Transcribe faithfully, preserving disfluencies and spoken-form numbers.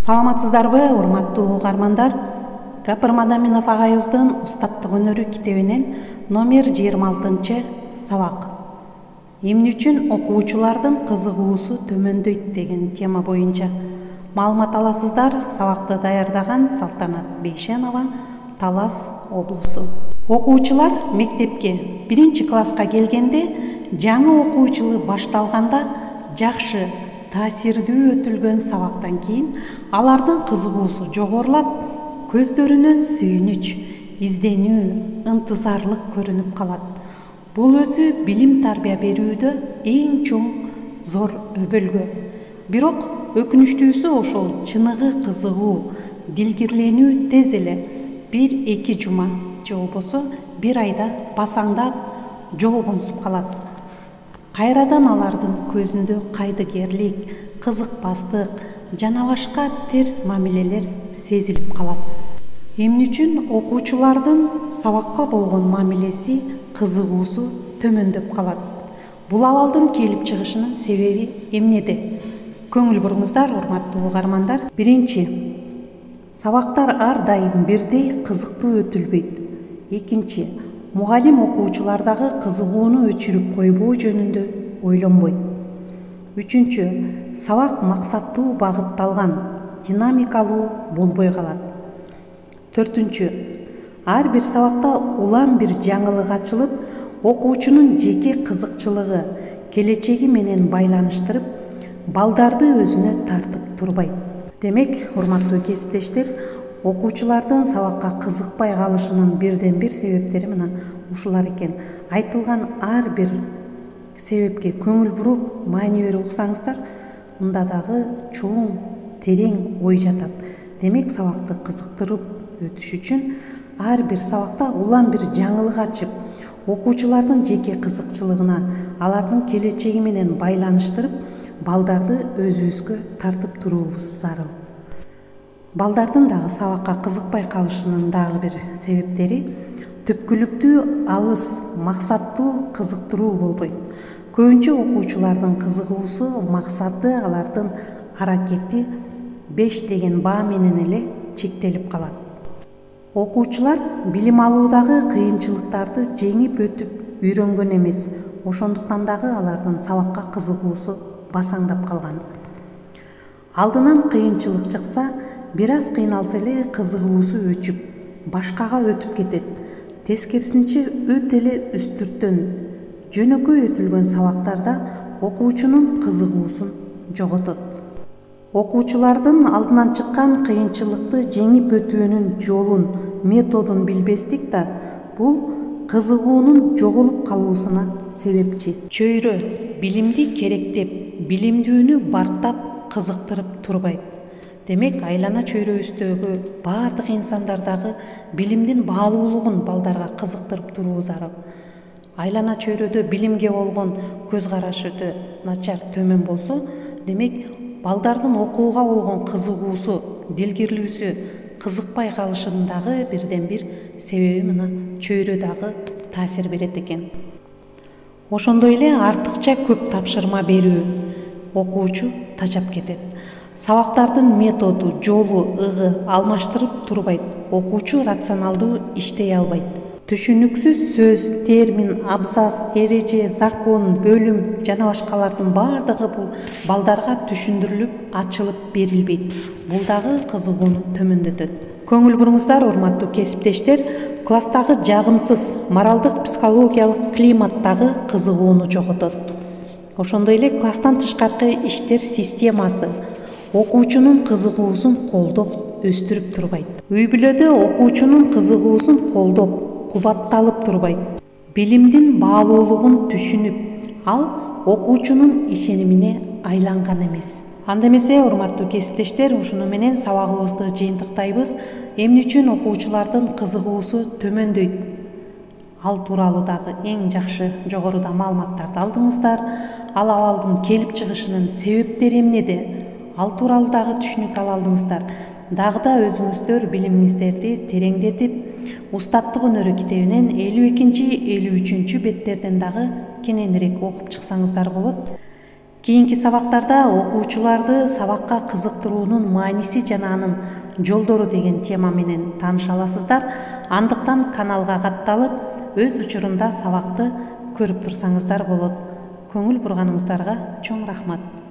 Саламатсыздарбы, урматтуу угармандар? Гапыр Мадаминов агайыбыздын Устаттык өнөрү китебинен номер жыйырма алтынчы сабак. Эмне үчүн окуучулардын кызыгуусу төмөндөйт деген тема боюнча маалымат аласыздар. Сабакты даярдаган Салтанат Бейшенова, Талас облусу. Окуучулар мектепке биринчи класска келгенде, жаңы окуу жылы башталганда жакшы, таасирдүү өтүлгөн сабактан кийин алардын кызыгуусу жогорулап, көздөрүнөн сүйүнүч, изденүү, ынтызарлык көрүнүп калат. Бул өзү билим тарбия берүүдө эң чоң зор өбөлгө. Бирок өкүнүчтүүсү ошол чыныгы кызыгуу, дилгирленүү тез эле бир эки жума же болбосо бир айда басаңдап жолгонсуп калат. Кайрадан алардын көзүндө кайдыгерлик, кызыкпастык жана башка терс мамилелер сезилип калат. Эмне үчүн окуучулардын сабакка болгон мамилеси, кызыгуусу төмөндөп калат? Бул абалдын келип чыгышынын себеби эмнеде? Көңүл буруңуздар, урматтуу угармандар. Биринчи, сабактар ар дайым бирдей кызыктуу өтүлбөйт. Экинчи, мугалим окуучулардагы кызыгууну өчүрүп койбоо жөнүндө ойлонбойт. Үчүнчү, сабак максаттуу багытталган, динамикалуу болбой калат. Төртүнчү, ар бир сабакта улам бир жаңылык ачылып, окуучунун жеке кызыкчылыгы, келечеги менен байланыштырып, балдарды өзүнө тартып турбайт. Демек, урматтуу кесиптештер, окуучулардын сабакка кызыкпай калышынын бирден бир себептери мына ушулар экен. Айтылган ар бир себепке көңүл буруп, маани берип уксаңыздар, мында дагы чоң, терең ой жатат. Демек, сабакты кызыктырып өтүш үчүн ар бир сабакта улам бир жаңылык ачып, окуучулардын жеке кызыкчылыгына, алардын келечеги менен байланыштырып, балдарды өзүбүзгө тартып туруубуз зарыл. Балдардын дагы сабакка кызыкпай калышынын дагы бир себептери түпкүлүктүү, алыс, максаттуу, кызыктыруу болбойт. Көбүнчө окуучулардын кызыгуусу, максаты, алардын аракети беш деген баа менен эле чектелип калат. Окуучулар билим алуудагы кыйынчылыктарды жеңип өтүп үйрөнгөн эмес, ошондуктан дагы алардын сабакка кызыгуусу басаңдап калган. Алдынан кыйынчылык чыкса, бир аз кыйналса эле кызыгуусу өчүп, башкага өтүп кетет. Тескерисинче өтө эле үстүртөн, жөнөкөй өтүлгөн сабактарда окуучунун кызыгуусун жоготот. Окуучулардын алдынан чыккан кыйынчылыкты жеңип өтүүнүн жолун, методун билбестик да бул кызыгуунун жоголуп калуусуна себепчи. Чөйрө билимди керектеп, билимдүүнү барктап, кызыктырып турбайт. Демек, айлана чөйрөбүздөгү баардык инсандардагы билимдин баалуулугун балдарга кызыктырып туруу зарыл. Айлана чөйрөдө билимге болгон көз карашы өтө начар, төмөн болсо, демек, балдардын окууга болгон кызыгуусу, дилгирлүүсү кызыкпай калышынын дагы бирден бир себеби мына чөйрө дагы таасир берет экен. Ошондой эле артыкча көп тапшырма берүү окуучу тажап кетет. Сабактардын методу, жолу, ыгы алмаштырып турбайт. Окуучу рационалдуу иштей албайт. Түшүнүксүз сөз, термин, абзац, эреже, закон, бөлүм жана башкалардын баардыгы бул балдарга түшүндүрүлүп, ачылып берилбейт. Бул дагы кызыгууну төмөндөтөт. Көңүл буруңуздар, урматтуу кесиптештер, класстагы жагымсыз моралдык психологиялык климат дагы кызыгууну жоготот. Ошондой эле класстан тышкаркы иштер системасы окуучунун кызыгуусун колдоп, өстүрүп турбайт. Үй-бүлөдө окуучунун кызыгуусун колдоп, кубатталып турбайт. Билимдин баалуулугун түшүнүп, ал окуучунун ишенимине айланган эмес. Анда эмесе, урматтуу кесиптештер, ушуну менен сабагыбызды жыйынтыктайбыз. Эмне үчүн окуучулардын кызыгуусу төмөндөйт? Ал тууралуу дагы эң жакшы жогоруда маалыматтарды алдыңыздар. Ал абалдын келип чыгышынын себептери эмнеде? Ал тууралуу дагы түшүнүк ала алдыңыздар. Дагы да өзүңүздөр билимиңиздерди тереңдетип, Устаттык өнөрү китебинен элүү экинчи элүү үчүнчү беттерден дагы кененирээк окуп чыксаңыздар болот. Кийинки сабактарда окуучуларды сабакка кызыктыруунун мааниси жана анын жолдору деген тема менен тааныша аласыздар. Андыктан каналга катталып өз учурунда сабакты көрүп турсаңыздар болот. Көңүл бурганыңыздарга чоң рахмат.